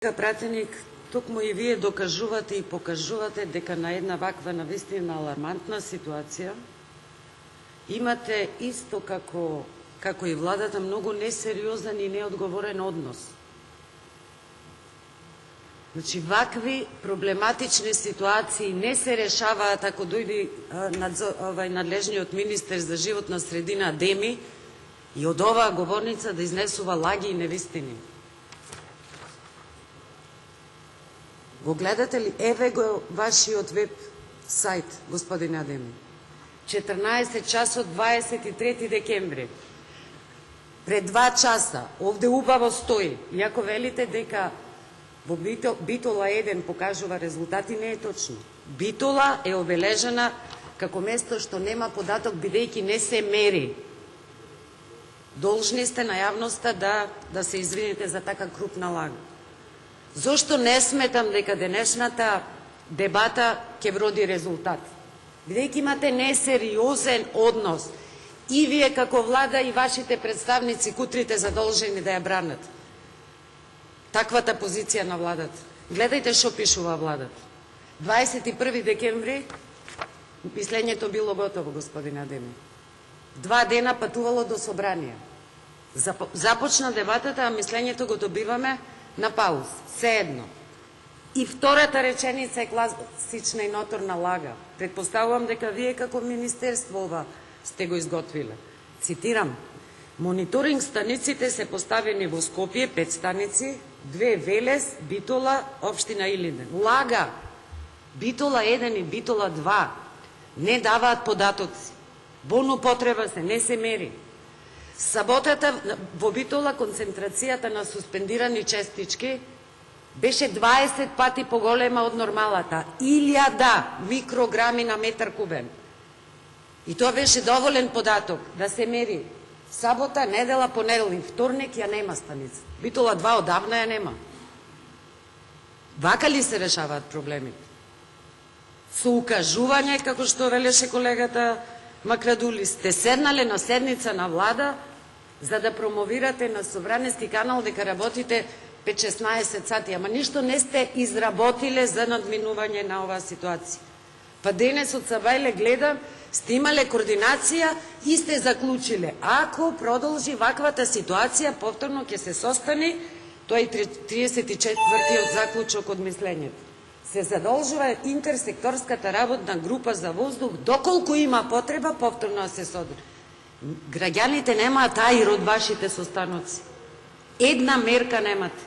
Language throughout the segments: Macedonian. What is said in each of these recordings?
Колега пратеник, токму и вие докажувате и покажувате дека на една ваква навистина алармантна ситуација имате исто како и владата многу несериозен и неодговорен однос. Значи, вакви проблематични ситуации не се решаваат ако дојде надлежниот министер за животна средина Адеми и од оваа говорница да изнесува лаги и невистини. Го гледате ли? Еве го вашиот веб сајт, господин Адеми. 14 часот 23 декември. Пред 2 часа, овде убаво стои, иако велите дека во Битола 1 покажува резултати, не е точно. Битола е обележена како место што нема податок, бидејќи не се мери. Должни сте на јавноста да се извините за така крупна лага. Зошто не сметам дека денешната дебата ќе вроди резултат? Бидејќи имате несериозен однос. И вие како влада и вашите представници кутрите задолжени да ја бранат таквата позиција на владата. Гледајте што пишува владата. 21 декември мислењето било готово, господин Адеми. 2 дена патувало до собрание. Започна дебатата, а мислењето го добиваме на пауз. Се едно. И втората реченица е класична и ноторна лага. Предпоставувам дека вие како министерство ова сте го изготвиле. Цитирам: мониторинг станиците се поставени во Скопје, 5 станици, 2 Велес, Битола, општина Илинден. Лага! Битола 1 и Битола 2 не даваат податоци. Болно потреба не се мери. Саботата во Битола концентрацијата на суспендирани честички беше 20 пати поголема од нормалата. 1000 микрограми на метар кубен. И тоа беше доволен податок да се мери. Сабота, недела, понеделник, вторник ја нема станица. Битола 2 одавна ја нема. Вака ли се решаваат проблемите? Со укажување, како што велеше колегата Макрадули, сте седнале на седница на влада за да промовирате на Собраниски канал дека работите 5-16 сати, ама ништо не сте изработиле за надминување на оваа ситуација. Па денес од Сабајле гледам, сте имале координација и сте заклучиле. Ако продолжи ваквата ситуација, повторно ќе се состани, тоа е 34-тиот заклучок од мислењето. Се задолжува интерсекторската работна група за воздух, доколку има потреба, повторно да се содржи. Граѓаните немаат аир од вашите состаноци. Една мерка немате.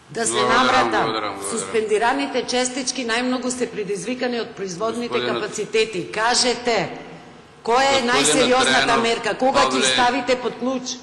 Да се наврата, суспендираните честички најмногу се предизвикани од производните капацитети. Кажете, која е најсериозната мерка? Кога ќе ставите под клуч?